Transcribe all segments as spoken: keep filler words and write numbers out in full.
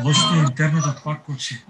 Лошото интернетот пак кочи.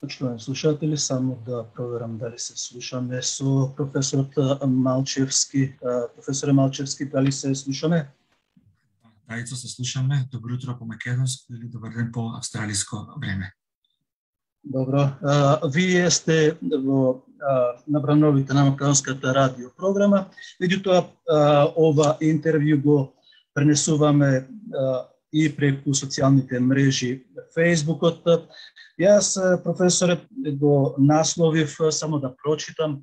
Почитувани слушатели, само да проверам дали се слушаме со професорот Малчевски. Професоре Малчевски, дали се слушаме? Да, Ицо, се слушаме. Добро утро по македонско или добар ден по австралиско време. Добро. Вие сте во набрановите на македонската радио програма. Меѓутоа, ова интервју го пренесуваме и преку социјалните мрежи Фејсбукот. Јас, професоре, го насловив, само да прочитам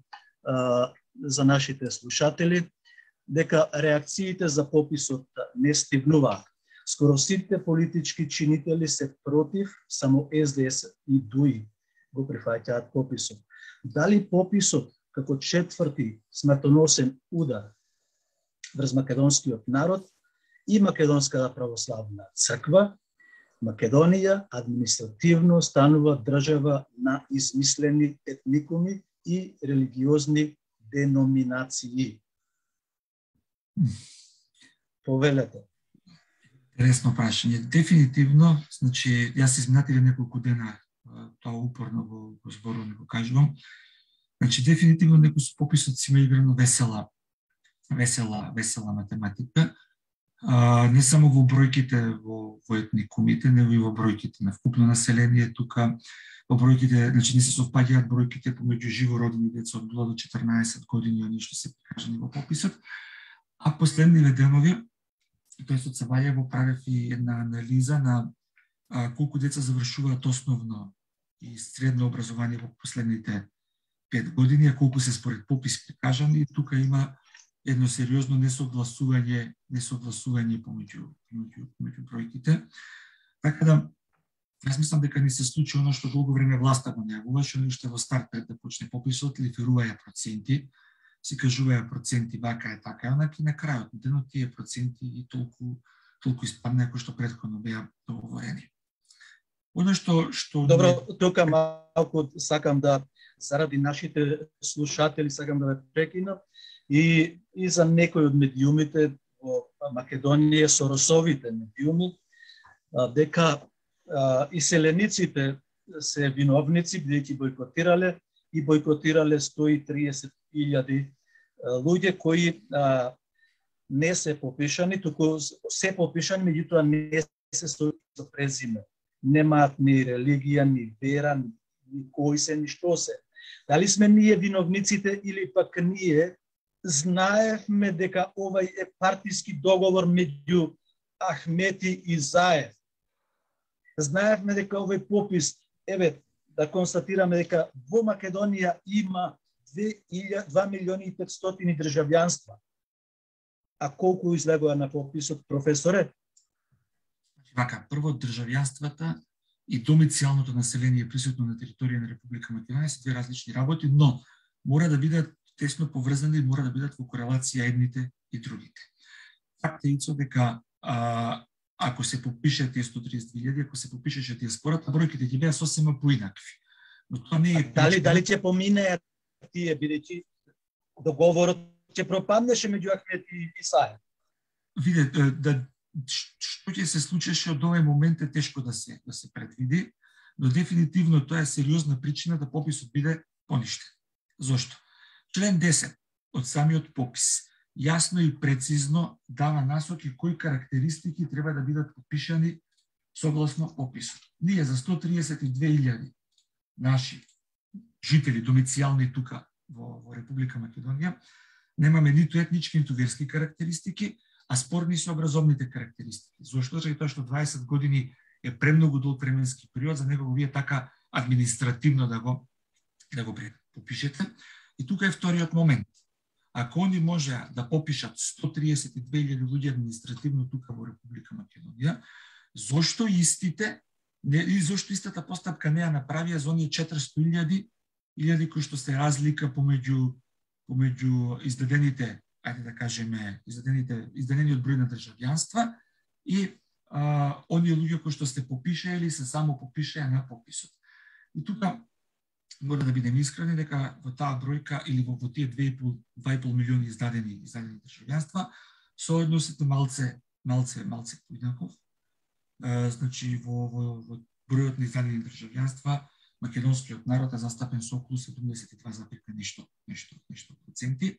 за нашите слушатели, дека реакциите за пописот не стигнуваат. Скоро сите политички чинители се против, само Ес Де Ес и Дуи го прифаќаат пописот. Дали пописот како четврти смртоносен удар врз македонскиот народ и Македонската православна црква, Македонија административно станува држава на измислени етникуми и религиозни деноминации? Повелете. Интересно прашање. Дефинитивно, значи, јас изминативе неколку дена тоа упорно го, го зборувам, го кажувам. Значи, дефинитивно некој со пописот си има играно весела, весела, весела математика. А, не само во бројките во, во етникумите, него и во бројките на вкупно население тука, во бројките, значи не се совпаѓаат бројките помеѓу живородени деца од нула до четрнаесет години, оние што се прикажани во пописот. А последниве денови, тој со Цабајево правев и една анализа на а, колку деца завршуваат основно и средно образование во последните пет години, а колку се според попис прикажани, и тука има едно сериозно несогласување, несогласување помеѓу, помеѓу, помеѓу бројките. Така да, јас мислам дека ни се случи оно што долго време власта го најавуваше, но уште во старт пред да почне пописот, лиферуваја проценти, си кажуваја проценти вака е така, онака и на крајот на денот тие проценти и толку толку испадна кои што претходно беа договорени. Оно што што Добро, тука малку сакам да заради нашите слушатели сакам да ве прекинам и и за некои од медиумите во Македонија, соросовите медиуми, дека иселениците се виновници бидејќи бојкотирале и бојкотирале сто и триесет илјади луѓе кои а, не се попишани, туку се попишани, меѓутоа не се со презиме. Немаат ни религија, ни вера, ни кои се, ни што се. Дали сме ние виновниците или пак ние знаевме дека овај е партиски договор меѓу Ахмети и Заев. Знаевме дека овој попис, еве, да констатираме дека во Македонија има два милиони и петстотини државјанства. А колку излегува на пописот, професоре? Вака, прво државјанствата и домицијалното население присутно на територија на Република Македонија се две различни работи, но мора да бидат тесно поврзани и мора да бидат во корелација едните и другите. Факт е Ицо дека а, ако се попише тие сто триесет илјади, ако се попишеше диаспората, бројките ќе беа сосема поинакви. Но тоа не е дали дали ќе поминеа тие, бидејќи договорот ќе пропаднеше меѓу Ахмет и Исаев? Виде, да што ќе се случеше од овој момент е тешко да се да се предвиди, но дефинитивно тоа е сериозна причина да пописот биде поништен. Зошто? Член десет од самиот попис јасно и прецизно дава насоки кои карактеристики треба да бидат попишани согласно пописот. Ние за сто триесет и две илјади наши жители домицијални тука во, во Република Македонија немаме ниту етнички, ниту верски карактеристики, а спорни се образовните карактеристики. Зошто? Заради тоа што дваесет години е премногу долг временски период за него вие така административно да го да го попишете. И тука е вториот момент. Ако они можеа да попишат сто триесет и две илјади луѓе административно тука во Република Македонија, зошто истите не и зошто истата постапка не ја направија за оние четиристо илјади илјади кои што се разлика помеѓу помеѓу издадените, ајде да кажеме, издадените издадениот број на државјанства и а, оние луѓе кои што се попишаа или се само попишаа на пописот. И тука мора да бидеме искрени дека во таа бројка или во, во тие две и пол милиони издадени издадени државјанства соодносот е малце малце малце поинаков. Uh, значи во, во, во бројот на издадени државјанства македонскиот народ е застапен со околу седумдесет и два запир нешто нешто нешто проценти.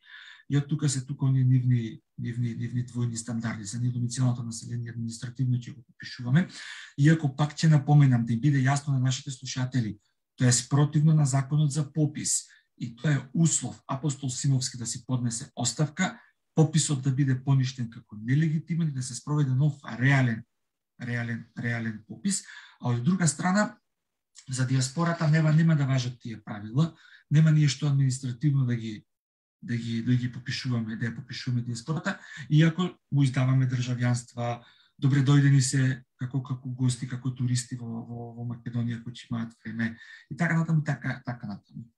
И од тука се тука оние нивни нивни нивни двојни стандарди за недомицилното население административно ќе го попишуваме. Иако пак ќе напоменам да им биде јасно на нашите слушатели, тоа е спротивно на законот за попис и тоа е услов апостол Симовски да си поднесе оставка, пописот да биде поништен како нелегитимен и да се спроведе нов реален реален реален попис, а од друга страна за диаспората нема нема да важат тие правила, нема ние што административно да ги да ги да ги попишуваме, да ја попишуваме диаспората, иако му издаваме државјанства, добре дојдени се како како гости, како туристи во во, во Македонија кои ќе имаат време и така натаму така така натаму.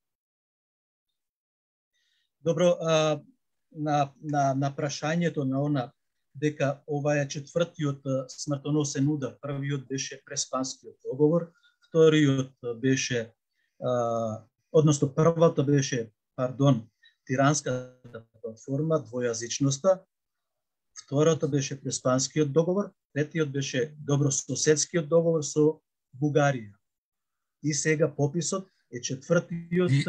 Добро, а, на на на прашањето на она дека ова е четвртиот смртоносен удар. Првиот беше Преспанскиот договор, вториот беше, а, односно првата беше, пардон, Тиранската платформа, двојазичноста, втората беше Преспанскиот договор, третиот беше добрососедскиот договор со Бугарија. И сега пописот е четвртиот и...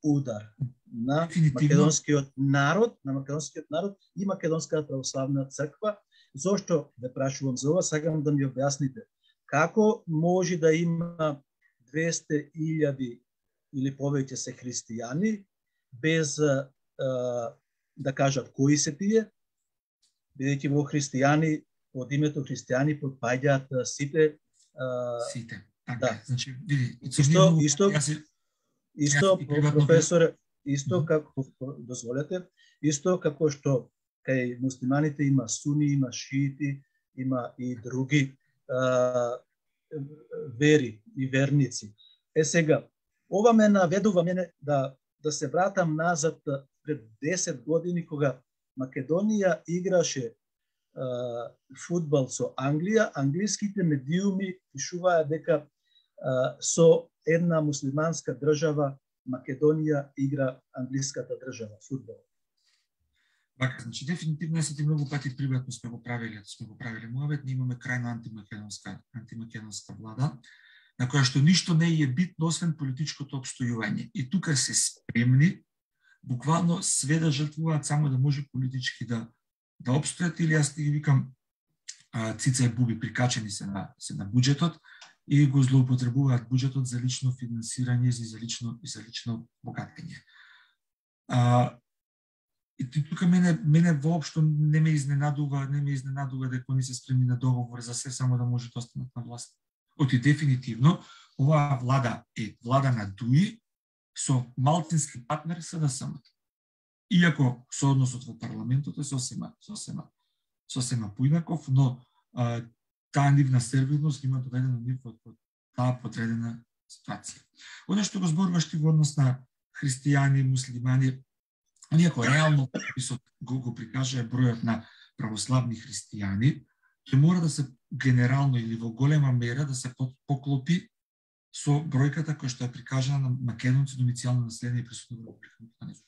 удар на македонскиот народ, на македонскиот народ и Македонската православна црква. Зошто ве прашувам за ова? Сакам да ми објасните. Како може да има двесте илјади или повеќе се христијани без а, да кажат кои се тие, бидејќи во христијани под името христијани подпаѓаат сите а, сите. Така, да. Значи, види, исто исто јас Исто, професоре, исто како, дозволете, исто како што кај муслиманите има суни, има шиити, има и други а, вери и верници. Е сега, ова ме наведува мене да, да се вратам назад пред десет години, кога Македонија играше а, фудбал со Англија, англиските медиуми пишуваа дека а, со една муслиманска држава Македонија игра англиската држава фудбал. Така, значи дефинитивно сите многу пати приватно сме го правеле, сме го правеле муавет, ние имаме крајна антимакедонска антимакедонска влада, на која што ништо не е битно освен политичкото обстојување. И тука се спремни буквално све да жртвуваат само да може политички да да обстојат, или јас ти викам а, цица и буби прикачени се на се на буџетот и го злоупотребуваат буџетот за лично финансирање и за лично и за лично богатење. А, и тука мене мене воопшто не ме изненадува, не ме изненадува дека они се спремни на договор за се само да може да останат на власт. Оти дефинитивно оваа влада е влада на Дуи со малцински партнер СДСМ. Иако соодносот во парламентот е сосема сосема сосема поинаков, но а, таа нивна сервилност има доведена нив од таа подредена ситуација. Оно што го зборуваш ти во однос на христијани, муслимани, иако реално пописот го, го прикаже бројот на православни христијани, ќе мора да се генерално или во голема мера да се поклопи со бројката која што е прикажана на македонци домицијално население и присутно во Република Македонија.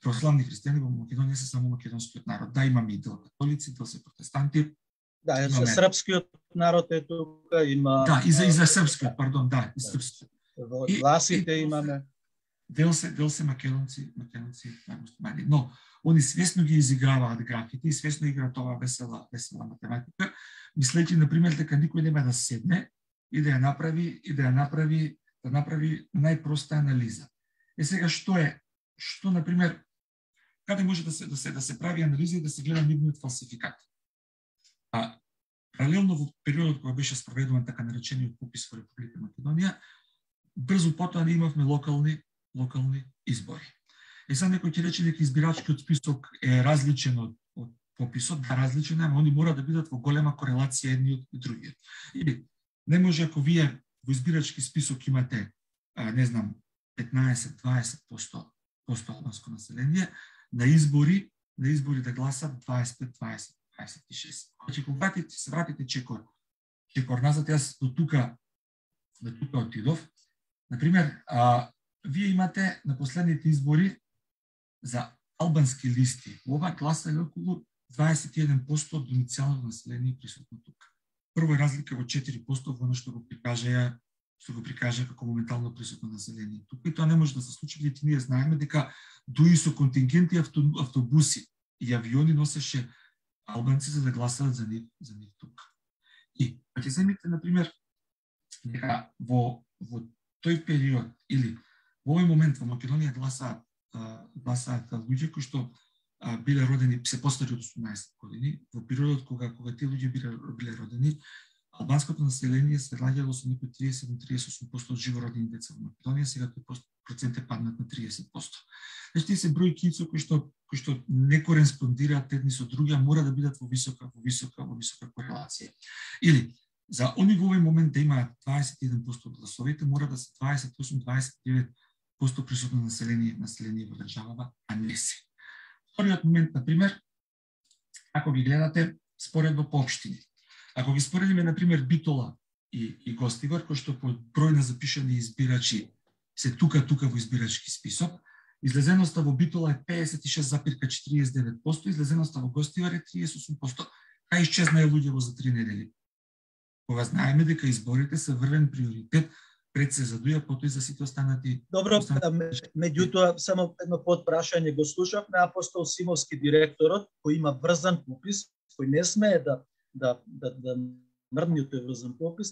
Православни христијани во Македонија се само македонскиот народ. Да, имаме и дел католици, дел се протестанти. Да, имаме... српскиот народ е тука, има... Да, и за, и за српскиот, пардон, да, и српскиот. Во власите имаме... Дел се, дел се македонци, македонци муслимани. Но, они свесно ги изиграваат графите и свесно играат ова весела, весела математика, мислејќи, например, дека никој нема да седне и да ја направи, и да ја направи, да направи најпроста анализа. Е сега, што е, што, например, каде може да се, да се, да се прави анализа и да се гледа нивниот фалсификат? А, паралелно во периодот кога беше спроведуван така наречениот попис во Република Македонија, брзо потоа не имавме локални локални избори. И сега некој ќе рече дека избирачкиот список е различен од, од пописот, да, различен е, ама они мора да бидат во голема корелација едниот и другиот. Или не може ако вие во избирачки список имате, а, не знам, петнаесет до дваесет проценти албанско население, на избори, на избори да гласат дваесет и пет, дваесет, дваесет и шест. Значи, кога вратите, се вратите чекор, чекор назад, јас до тука, до тука отидов. Например, а, вие имате на последните избори за албански листи. Ова гласали околу дваесет и еден проценти од домицијалното население присутно тука. Прво е разлика во четири проценти во она што го прикажа, што го прикажа како моментално присутно население тука. И тоа не може да се случи, бидејќи ние знаеме дека дуи со контингенти автобуси и авиони носеше албанци за да гласаат за нив, за нив тука. И ќе земите, например, дека во во тој период или во овој момент во Македонија гласаат гласаат луѓе кои што а, биле родени се постари од осумнаесет години. Во периодот кога кога тие луѓе биле биле родени, албанското население се раѓало со некои триесет до триесет и осум проценти од живородени деца во Македонија, сега тој процент е паднат на тридесет проценти. Значи тие се бројки кои што кои што не кореспондираат едни со други, а мора да бидат во висока во висока во висока корелација. Или за они во овој момент да имаат дваесет и еден проценти од гласовите, мора да се дваесет и осум до дваесет и девет проценти присутно население, население во државава, а не се. Вториот момент, например, ако ги гледате споредба по општини. Ако ги споредиме, например, Битола и, и Гостивар, кои што по број на запишани избирачи се тука-тука во избирачки список, излезеноста во Битола е педесет и шест запирка четириесет и девет проценти, излезеноста во Гостивар е тридесет и осум проценти. Кај исчезнаа луѓе во за три недели? Кога знаеме дека изборите се врвен приоритет, пред се задуја, потоа и за сите останати... Добро, меѓутоа, само едно подпрашање го слушавме, Апостол Симовски, директорот, кој има врзан попис, кој не смее да да да да мрдни тој врзан попис,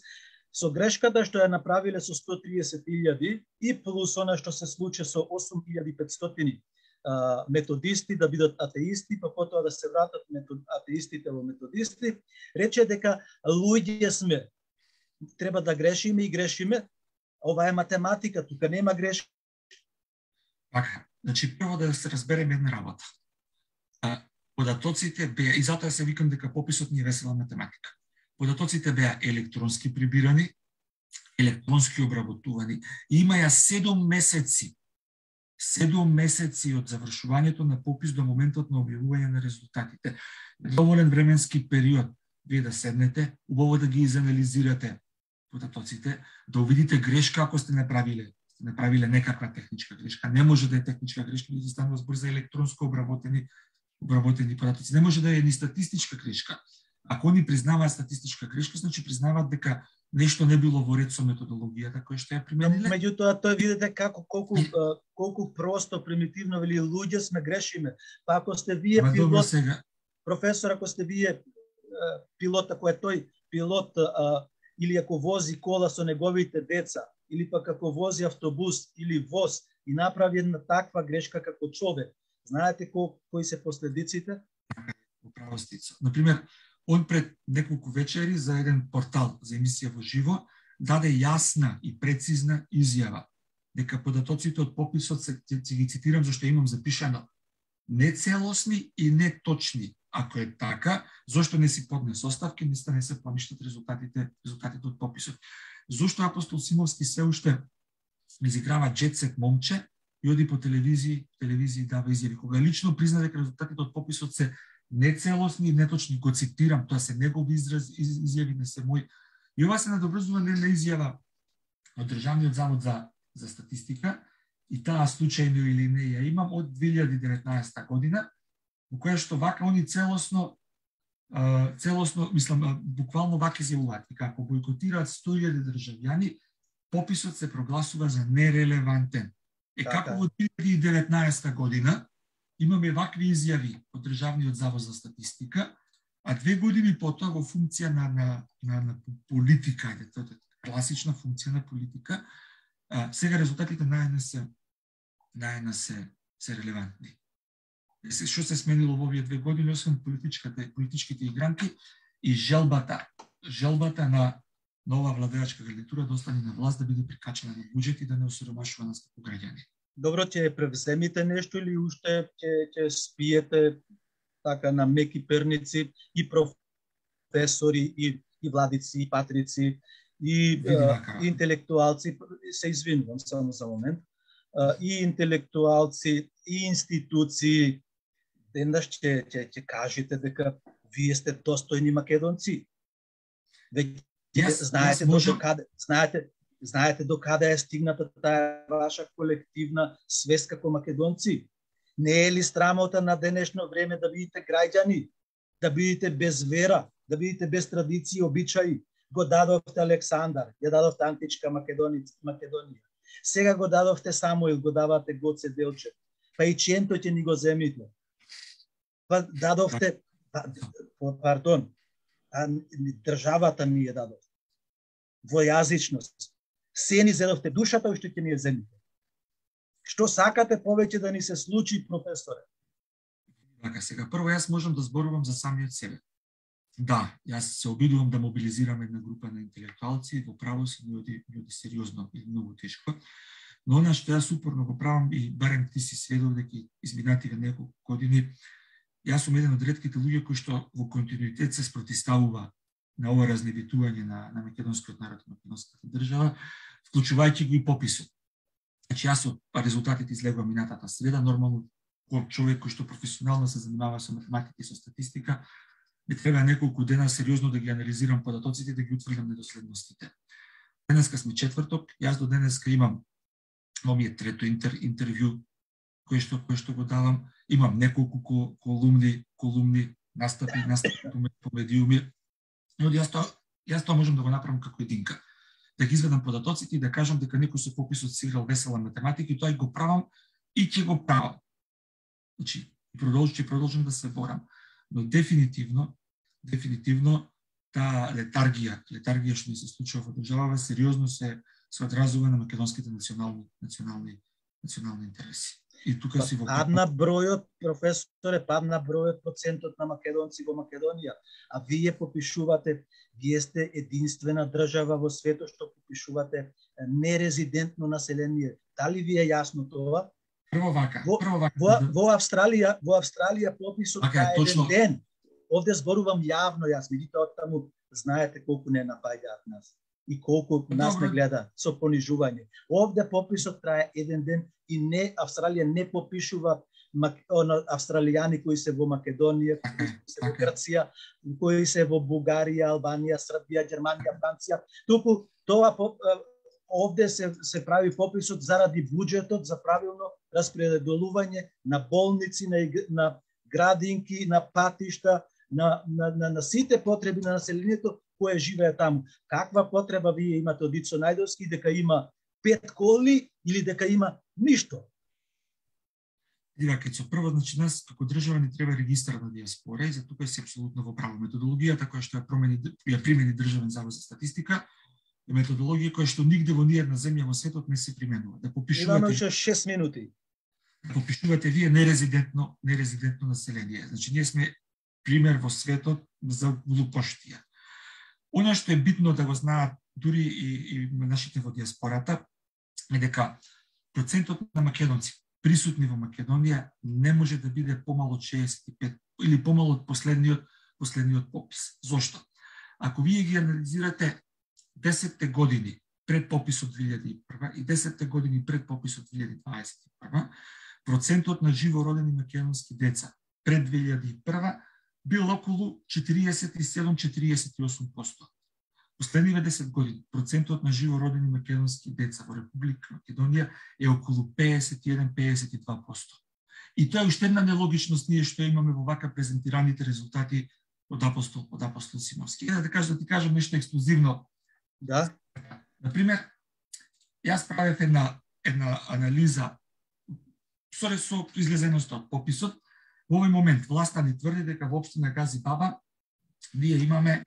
со грешката што ја направиле со сто триесет илјади и плюс она што се случи со осум илјади и петстотини а, методисти да бидат атеисти, па потоа да се вратат метод, атеистите во методисти, рече дека луѓе сме, треба да грешиме и грешиме. Ова е математика, тука нема грешка. Така, значи прво да се разбереме една работа. А, податоците беа, и затоа се викам дека пописот ни е весела математика. Податоците беа електронски прибирани, електронски обработувани и има ја седум месеци. седум месеци од завршувањето на попис до моментот на објавување на резултатите. Доволен временски период вие да седнете, убаво да ги изанализирате податоците, да увидите грешка ако сте направиле, сте направиле некаква техничка грешка. Не може да е техничка грешка, да станува збор за електронско обработени обработени податоци. Не може да е ни статистичка грешка. Ако они признаваат статистичка грешка, значи признаваат дека нешто не било во ред со методологијата која што ја примениле. Меѓутоа, тоа видите како колку колку просто примитивно вели луѓе сме грешиме. Па ако сте вие Ма, пилот, сега... професор, ако сте вие пилот, ако е тој пилот, а, или ако вози кола со неговите деца, или пак ако вози автобус или воз и направи една таква грешка како човек, знаете ко, кои се последиците? Управо Стицо. Например, он пред неколку вечери за еден портал за емисија во живо даде јасна и прецизна изјава дека податоците од пописот се, ќе ги цитирам зашто имам запишано, нецелосни и неточни. Ако е така, зошто не си поднес оставки, нисто не се поништат резултатите, резултатите од пописот. Зошто Апостол Симовски се уште изиграва джетсет момче и оди по телевизии, телевизии дава изјави, кога лично призна дека резултатите од пописот се нецелосни и неточни, го цитирам, тоа се негови израз, из, изјави, не се мој. И ова се надоврзува на изјава од Државниот завод за, за статистика, и таа случајно или не ја имам од две илјади и деветнаесетта година, во која што вака они целосно, целосно, мислам, буквално вака изјавуваат, како бойкотираат сто илјади државјани, пописот се прогласува за нерелевантен. Е, така. Како во две илјади и деветнаесетта година имаме вакви изјави од Државниот завод за статистика, а две години потоа во функција на, на, на, на политика, тоа е класична функција на политика, а, сега резултатите најна се, најна се, се релевантни. Што се сменило во овие две години, освен политичките, политичките игранки и желбата, желбата на нова владеачка гарнитура да остане на власт, да биде прикачена на буџет и да не осиромашува нас како граѓани. Добро, ќе превземите нешто или уште ќе ќе спиете така на меки перници и професори и и владици и патрици и а, интелектуалци, се извинувам само за момент, а, и интелектуалци и институции денаш ќе ќе ќе кажете дека вие сте достојни македонци. Веќе yes, знаете yes, до каде знаете знаете до каде е стигната таа ваша колективна свест како македонци. Не е ли срамота на денешно време да бидете граѓани, да бидете без вера, да бидете без традиции и обичаи? Го дадовте Александар, ја дадовте античка Македонија. Сега го дадовте Самуил, го давате Гоце Делчев. Па и Ченто ќе ни го земите. Па дадовте, пардон, а државата ни ја дадовте. Двојазичност. Се ни зедовте душата, уште ќе ни ја земите. Што сакате повеќе да ни се случи, професоре? Така, сега прво јас можам да зборувам за самиот себе. Да, јас се обидувам да мобилизирам една група на интелектуалци во правосудни луѓе, луѓе сериозно и многу тешко. Но она што јас упорно го правам и барем ти си сведок дека изминативе неколку години, јас сум еден од ретките луѓе кои што во континуитет се спротиставува на ова разневитување на, на македонскиот народ и македонската држава, вклучувајќи го и пописот. Значи, јас од резултатите излегувам минатата среда, нормално, кој човек кој што професионално се занимава со математика и со статистика, ми треба неколку дена сериозно да ги анализирам податоците, да ги утврдам недоследностите. Денеска сме четврток, јас до денеска имам, ова ми е трето интер, интервју кој што, кој што го давам, имам неколку колумни, колумни настапи, настапи по медиуми, но јас тоа, јас тоа можам да го направам како единка. Да ги изведам податоците и да кажам дека некој со пописот си играл весела математика и тоа и го правам и ќе го правам. Значи, продолжи, продолжам да се борам. Но дефинитивно, дефинитивно таа летаргија, летаргија што ни се случува во државава, сериозно се се одразува на македонските национални национални национални интереси. И тука си во падна бројот, професоре, падна бројот, процентот на македонци во Македонија, а вие попишувате, вие сте единствена држава во светот што попишувате нерезидентно население. Дали ви е јасно тоа? Прво вака, во, прво вака. Во, во Австралија, во Австралија пописот е еден ден. Овде зборувам јавно јас, меѓутоа таму знаете колку не напаѓаат нас и колку нас Добре. Не гледа со понижување. Овде пописот трае еден ден и не Австралија не попишува австралијани кои се во Македонија, кои се во Грција, кои се во Бугарија, Албанија, Србија, Германија, Франција. Туку тоа овде се се прави пописот заради буџетот за правилно распределување на болници, на, на градинки, на патишта, на, на, на, на сите потреби на населението кое живее таму. Каква потреба вие имате од Ицо Најдовски дека има пет коли или дека има ништо? Дивакецо, прво, значи нас како држава ни треба регистар на диаспора и за тука си апсолутно во право. Методологијата која што ја промени, ја примени Државен завод за статистика е методологија која што нигде во ниедна земја во светот не се применува. Да попишувате Имаме уште шест минути. Да попишувате вие нерезидентно, нерезидентно население. Значи ние сме пример во светот за глупоштија. Она што е битно да го знаат дури и, и нашите во диаспората е дека процентот на македонци присутни во Македонија не може да биде помало од шеесет и пет или помало од последниот последниот попис. Зошто? Ако вие ги анализирате десетте години пред пописот две илјади и прва и десетте години пред пописот две илјади дваесет и прва, процентот на живородени македонски деца пред две илјади и прва бил околу четириесет и седум до четириесет и осум проценти. Последниве десет години процентот на живородени македонски деца во Република Македонија е околу пеесет и еден до пеесет и два проценти. И тоа е уште една нелогичност ние што имаме во вака презентираните резултати од апостол од апостол Симовски. Е, да кажам да ти кажам нешто ексклузивно. Да. Например, јас правев една една анализа со со излезеност од пописот. Во овој момент власта ни тврди дека во општина Гази Баба ние имаме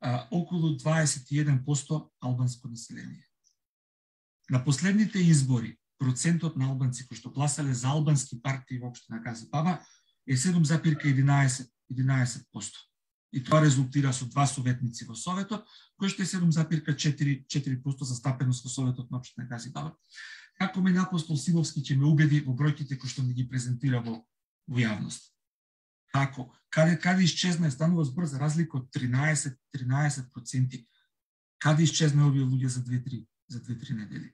а, околу дваесет и еден проценти албанско население. На последните избори процентот на албанци кои што гласале за албански партии во општина Гази Баба е седум зарез единаесет проценти. И тоа резултира со два советници во Советот, кои што е седум зарез четири проценти застапеност во Советот на општина Гази Баба. Како мене апостол Симовски ќе ме убеди во бројките кои што ни ги презентира во, во јавност? Како? Каде, каде исчезна, станува збор за разлика од тринаесет проценти. Каде исчезна овие луѓе за две-три за две-три недели?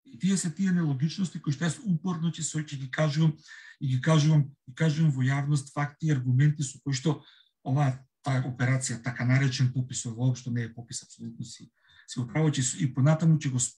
И тие се тие нелогичности кои што јас упорно ќе се ќе ги кажувам и ги кажувам и кажувам во јавност факти и аргументи со кои што оваа таа операција, така наречен попис, воопшто не е попис, апсолутно си си управо, че и понатаму ќе го